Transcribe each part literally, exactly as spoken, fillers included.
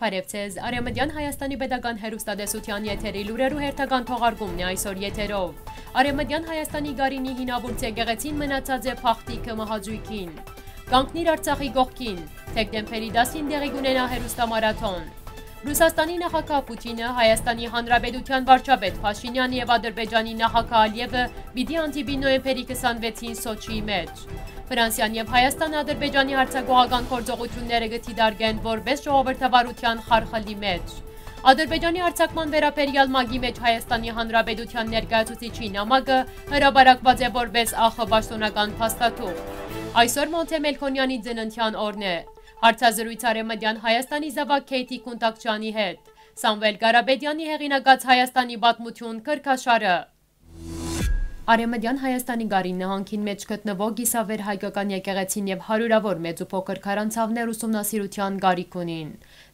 Բարեւ ձեզ, Արեւմտեան Հայաստանի Պետական Հեռուստատեսութեան եթերի լուրերու հերթական թողարկումն է այսօր եթերով։ Արեւմտեան Հայաստանի Գարինի հինաւուրց եկեղեցին մնացած է փախտիքը մահաճույքին։ Կանգնիր Արցախի կողքին, դեկտեմբերի տասին տեղի կունենայ հեռուստամարաթոն։ Ռուսաստանի նախագահ Պութինը, Հայաստանի Հանրապետութեան վարչապետ Փաշինեան եւ Ադրբեջանի նախագահ Ալիևը պիտի հանդիպին նոյեմբերի քսանվեցին Սոչիի մէջ։ Ֆրանսիան եւ Հայաստանը Ադրբեջանի յարձակողական գործողութիւնները կը դիտարկեն որպէս ժողովրդավարութեան խարխլի մէջ։ Ադրբեջանի յարձակման վերաբերեալ ՄԱԿ-ի մէջ Հայաստանի Հանրապետութեան ներկայացուցիչի նամակը հրապարակուած է որպէս ախ պաշտօնական փաստաթուղթ։ Այսօր Մոնթէ Մելքոնեանի ծննդեան օրն է։ Հարցազրոյց Արեւմտեան Հայաստանի զաւակ Քեյթի Քունտակչյանի հետ։ Սամուէլ Կարապետեանի հեղինակած Հայաստանի պատմութիւն քրքաշարը։ Արեւմտեան Հայաստանի Գարին նահանգին մէջ գտնուող կիսավեր հայկական եկեղեցին եւ հարիւրաւոր մեծ ու փոքր քարանցաւներ ուսումնասիրութեան կարիք ունին։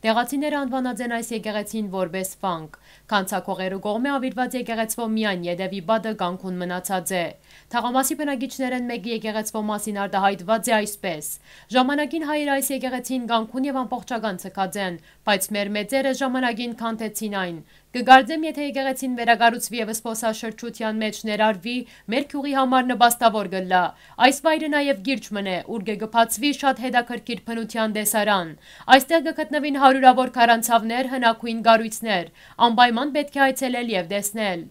Տեղացիները անուանած են այս եկեղեցին որպէս վանք։ Գանձակողերու կողմէ աւիրուած եկեղեցւոյ միայն ետեւի պատը կանգուն մնացած է։ Թաղամասի բնակիչներէն մէկը եկեղեցւոյ մասին արտահայտուած է այսպէս. «Ժամանակին հայերը այս եկեղեցին կանգուն եւ ամբողջական ձգած են, բայց մեր մեծերը ժամանակին քանդեցին այն։ Կը կարծեմ, եթէ եկեղեցին վերակառուցուի եւ զբօսաշրջութեան մէջ ներառուի, մեր գիւղի համար նպաստաւոր կ'ըլլայ։ Այս վայրը նաեւ կիրճ մըն է, ուր կը բացուի շատ հետաքրքիր բնութեան տեսարան։ Այստեղ կը գտնուին հարիւրաւոր քարանցաւներ, հնագոյն կառոյցներ։ Անպայման պէտք է այցելել եւ տեսնել»։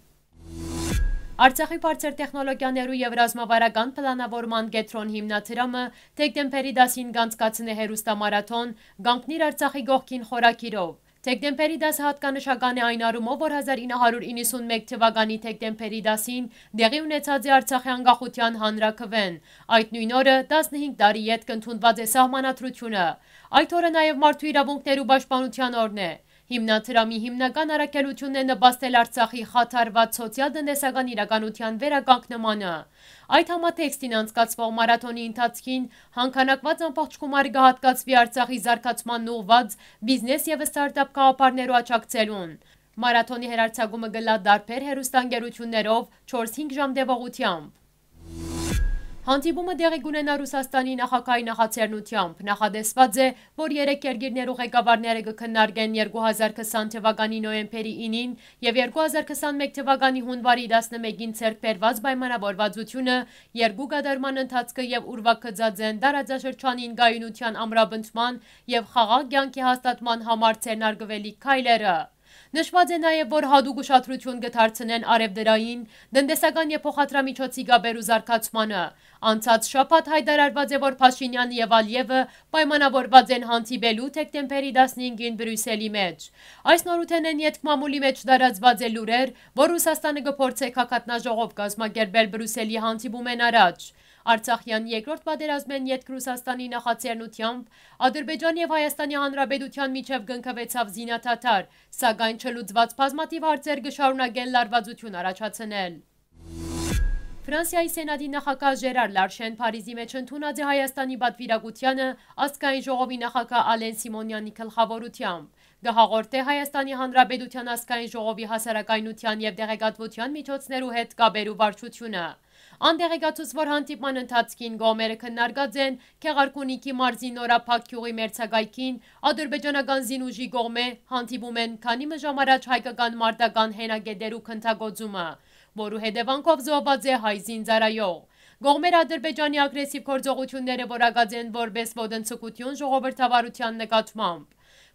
Արցախի բարձր տեխնոլոգիաներու եւ ռազմավարական պլանաւորման կեդրոն հիմնադրամը դեկտեմբերի տասին կանցկացնէ հեռուստամարաթոն «Կանգնիր Արցախի կողքին» խորագիրով։ Դեկտեմբերի տասը յատկանշական է այն առումով, որ հազար ինը հարիւր իննսունմէկ թվականի դեկտեմբերի տասին տեղի ունեցած է Արցախի անկախութեան հանրաքուէն։ Այդ նոյն օրը, տասնհինգ տարի ետք, ընդունուած է սահմանադրութիւնը։ Այդ օրը նաեւ մարդու իրաւունքներու պաշտպանութեան օրն է։ Հիմնադրամի հիմնական առաքելութիւնն է նպաստել Արցախի խաթարուած սոցիալ-տնտեսական իրականութեան վերականգնմանը։ Այդ համատեքստին անցկացուող մարաթոնի ընթացքին հանգանակուած ամբողջ գումարը կը յատկացուի Արցախի զարգացման ուղղուած բիզնես եւ ստարտափ գաղափարներու աջակցելուն։ Մարաթոնի հեռարձակումը կ'ըլլայ տարբեր հեռուստաընկերութիւններով չորս-հինգ ժամ տեւողութեամբ։ Հանդիպումը տեղի կունենայ Ռուսաստանի նախագահի նախաձեռնութեամբ։ Նախատեսուած է, որ երեք երկիրներու ղեկավարները կը քննարկեն երկու հազար քսան թվականի նոյեմբերի ինին եւ երկու հազար քսանմէկ թվականի յունուարի տասնմէկին ձեռք բերուած պայմանաւորուածութիւնը, երկու կատարման ընթացքը եւ ուրվագծած են տարածաշրջանին կայունութեան ամրապնդման եւ խաղաղ կեանքի հաստատման համար ձեռնարկուելիք քայլերը։ Նշուած է նաեւ, որ յատուկ ուշադրութիւն կը դարձնեն առեւտրային, տնտեսական եւ փոխադրամիջոցի կապերու զարգացմանը։ Անցած շաբաթ յայտարարուած է, որ Փաշինեանը եւ Ալիևը պայմանաւորուած են հանդիպելու դեկտեմբերի տասնհինգին Բրիուսելի մէջ։ Այս նորութենէն ետք մամուլի մէջ տարածուած է լուրեր, որ Ռուսաստանը կը փորձէ գագաթնաժողով կազմակերպել Բրիուսելի հանդիպումէն առաջ։ Արցախեան երկրորդ պատերազմէն ետք Ռուսաստանի նախաձեռնութեամբ Ադրբեջանի եւ Հայաստանի Հանրապետութեան միջեւ կնքուեցաւ զինադադար, սակայն չլուծուած բազմաթիւ հարցեր կը շարունակեն լարուածութիւն առաջացնել։ Ֆրանսիայի Սենատի նախագահ Ժերար Լարշեն Փարիզի մէջ ընդունած է Հայաստանի պատվիրակութեանը ազգային ժողովի նախագահ Ալեն Սիմոնեանի գլխաւորութեամբ։ Կը հաղորդէ Հայաստանի Հանրապետութեան ազգային ժողովի հասարակայնութեան եւ տեղեկատվութեան միջոցներու հետ կապերու վարչութիւնը։ Ան տեղեկացուց, որ հանդիպման ընթացքին կողմերը քննարկած են Գեղարքունիքի մարզի Նորափակ գիւղի մերձակայքին ադրբեջանական զինուժի կողմէ հանդիպումէն քանի մը ժամ առաջ հայկական մարտական հենակետերու գնդակոծումը, որու հետեւանքով զոհուած է հայ զինծառայող։ Կողմերը Ադրբեջանի ագրեսիվ գործողութիւնները որակած են որպէս ոտնձգութիւն ժողովրդավարութեան նկատմամբ։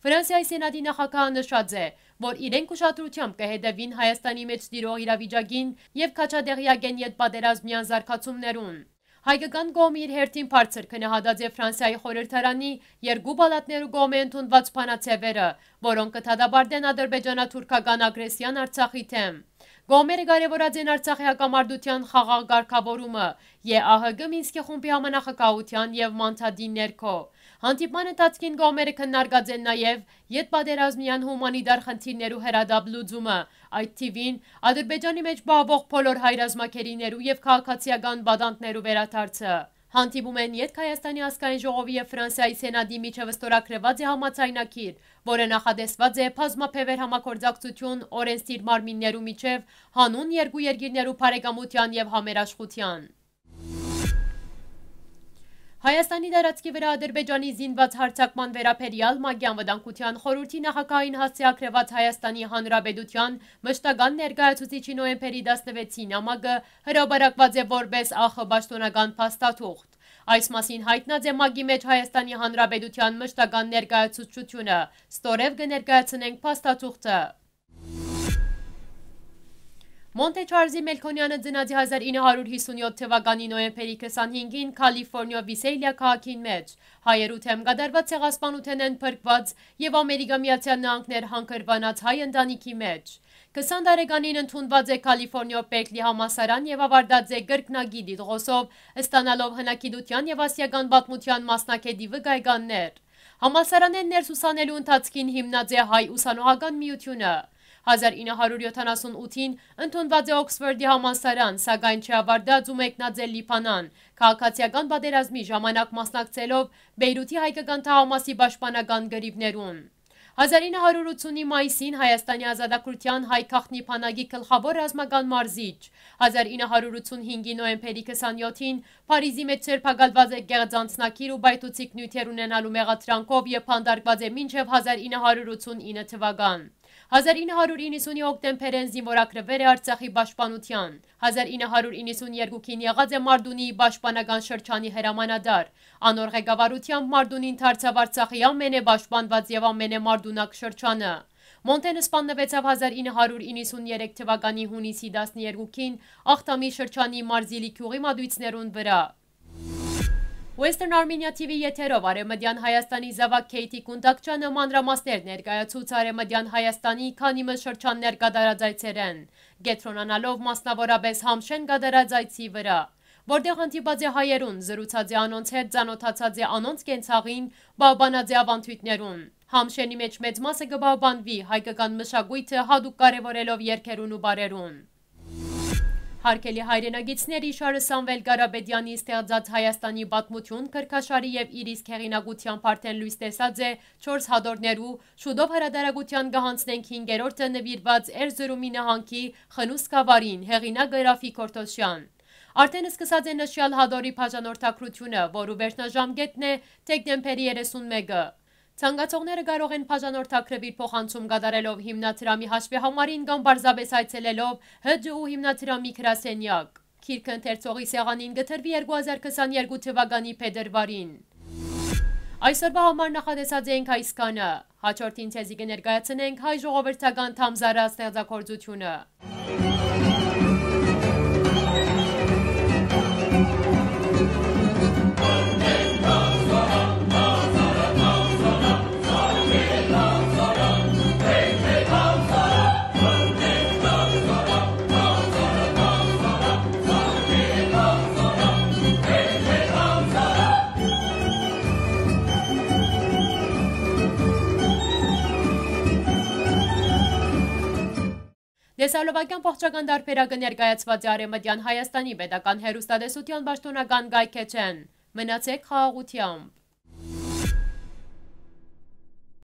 Ֆրանսիայի Սենատի նախագահը նշած է, որ իրենք ուշադրութեամբ կը հետեւին Հայաստանի մէջ տիրող իրավիճակին եւ քաջատեղյակ են յետպատերազմյան զարգացումներուն։ Հայկական կողմը իր հերթին բարձր գնահատած է Ֆրանսիայի խորհրդարանի երկու պալատներու կողմէ ընդունուած բանաձեւերը, որոնք կը դատապարտեն ադրբեջանա-թուրքական ագրեսիան Արցախի դէմ։ Կողմերը կարեւորած են Արցախի հակամարտութեան խաղաղ կարգաւորումը, ԵԱՀԿ Մինսկի խումբի համանախագահութեան եւ մանդատին ներքո։ Հանդիպման ընթացքին կողմերը քննարկած են նաեւ յետպատերազմյան հումանիտար խնդիրներու հրատապ լուծումը, այդ թիւին Ադրբեջանի մէջ պահուող բոլոր հայ ռազմագերիներու եւ քաղաքացիական պատանդներու վերադարձը։ Հանդիպումէն ետք Հայաստանի ազգային ժողովի եւ Ֆրանսիայի Սենատի միջեւ ստորագրուած է համաձայնագիր, որը նախատեսուած է բազմաբեւեռ համագործակցութիւն օրենսդիր մարմիններու միջեւ հանուն երկու երկիրներու բարեկամութեան եւ համերաշխութեան։ Հայաստանի տարածքի վրայ Ադրբեջանի զինուած յարձակման վերաբերեալ ՄԱԿ-ի Անվտանգութեան խորհուրդի նախագահային հասցեագրուած Հայաստանի Հանրապետութեան մշտական ներկայացուցիչի նոյեմբերի տասնեւեցին նամակը հրապարակուած է որպէս ախ պաշտօնական փաստաթուղթ։ Այս մասին յայտնած է ՄԱԿ-ի մէջ Հայաստանի Հանրապետութեան մշտական ներկայացուցչութիւնը, ստորեւ կը ներկայացնենք փաստաթուղթը։ Մոնտե Չարլզի Մելքոնեանը ծնած է հազար ինը հարիւր յիսունեօթ թուականի նոյեմբերի քսանհինգին Քալիֆորնիոյ Վիսելիա քաղաքին մէջ, հայերու դէմ կատարուած ցեղասպանութենէն փրկուած եւ Ամերիկա Միացեալ Նահանգներ հանգրուանած հայ ընտանիքի մէջ։ Քսան տարեկանին ընդունուած է Քալիֆորնիոյ Պերքլի համալսարան եւ աւարտած է կրկնակի տիտղոսով, ստանալով հնագիտութեան եւ ասիական պատմութեան մասնագէտի վկայականներ։ Համալսարանէն ներս ուսանելու ընթացքին հիմնած է Հայ ուսանողական միութիւնը։ Հազար ինը հարիւր յոթանասուն ութին ընդունուած է Օքսֆորդի համալսարան, սակայն չի աւարտած ու մեկնած է Լիբանան, քաղաքացիական պատերազմի ժամանակ մասնակցելով Բեյրութի հայկական թաղամասի պաշտպանական կռիւներուն։ Հազար ինը հարիւր ութսունի մայիսին Հայաստանի ազատագրութեան հայ գաղտնի բանակի գլխաւոր ռազմական մարզիչ, հազար ինը հարիւր ութսունհինգի նոյեմբերի քսանեօթին Փարիզի մէջ ձերբակալուած է կեղծ անձնագիր ու պայթուցիկ նիւթեր ունենալու մեղադրանքով եւ բանտարկուած է մինչեւ հազար ինը հարիւր ութսունինը թուական։ Հազար ինը հարիւր իննսունի հոկտեմբերէն զինուորագրուեր է Արցախի պաշտպանութեան։ Հազար ինը հարիւր իննսուն երկուքին եղած է Մարտունիի պաշտպանական շրջանի հրամանատար։ Անոր ղեկավարութեամբ Մարտունին դարձաւ Արցախի ամենէ պաշտպանուած եւ ամենէ մարտունակ շրջանը։ Մոնտեն սպաննուեցաւ հազար ինը հարիւր իննսուն երեք թուականի յունիսի տասներկուքին Ախթամի շրջանի Մարզիլի գիւղի մատոյցներուն վրայ։ Western Armenia T V եթերով Արեւմտեան Հայաստանի զաւակ Քեյթի Կունդակչյանը մանրամասներ ներկայացուց Արեւմտեան Հայաստանի քանի մը շրջաններ կատարած այցերէն, կեդրոնանալով մասնաւորապէս Համշէն կատարած այցի վրայ, որտեղ հանդիպած է հայերուն, զրուցած է անոնց հետ, ծանօթացած է անոնց կենցաղին, պահպանած է աւանդոյթներուն։ Համշէնի մէջ մեծ մասը կը պահպանուի, հայկական մշակոյթը յատուկ կարեւորելով երգերուն ու պարերուն։ Հարգելի հայրենակիցներ, իշարը Սամվել Կարապետեանի ստեղծած Հայաստանի պատմութիւն քրքաշարի եւ իր իսկ հեղինակութեամբ արդէն լոյս տեսած է չորս հատորներու, շուտով հրատարակութեան կը յանցնենք հինգերորդը նուիրուած Էրզրումի նահանգի Խնուս գաւառին, հեղինակը Ռաֆիկ Օրթոսեան։ Արդէն սկսած է նշեալ հատորի բաժանորդագրութիւնը, որու վերջնաժամկէտն է դեկտեմբերի երեսունմէկը։ Ցանկացողները կարող են բաժանորդագրուիլ փոխանցում կատարելով հիմնադրամի հաշվեհամարին կամ պարզապէս այցելելով Հ Ջ Ու հիմնադրամի գրասենեակ։ Գիրքը ընթերցողի սեղանին կը դրուի երկու հազար քսաներկու թուականի փետրուարին։ Այսօրվա համար նախատեսած ենք այսքանը։ Հաջորդին ձեզի կը ներկայացնենք հայ ժողովրդական Թամզարա ստեղծագործութիւնը։ Տեսալովակեան ողջական տարբերակը ներկայացուած է Արեւմտեան Հայաստանի պետական հեռուստատեսութեան պաշտօնական կայքէջէն։ Մնացեք խաղաղութեամբ։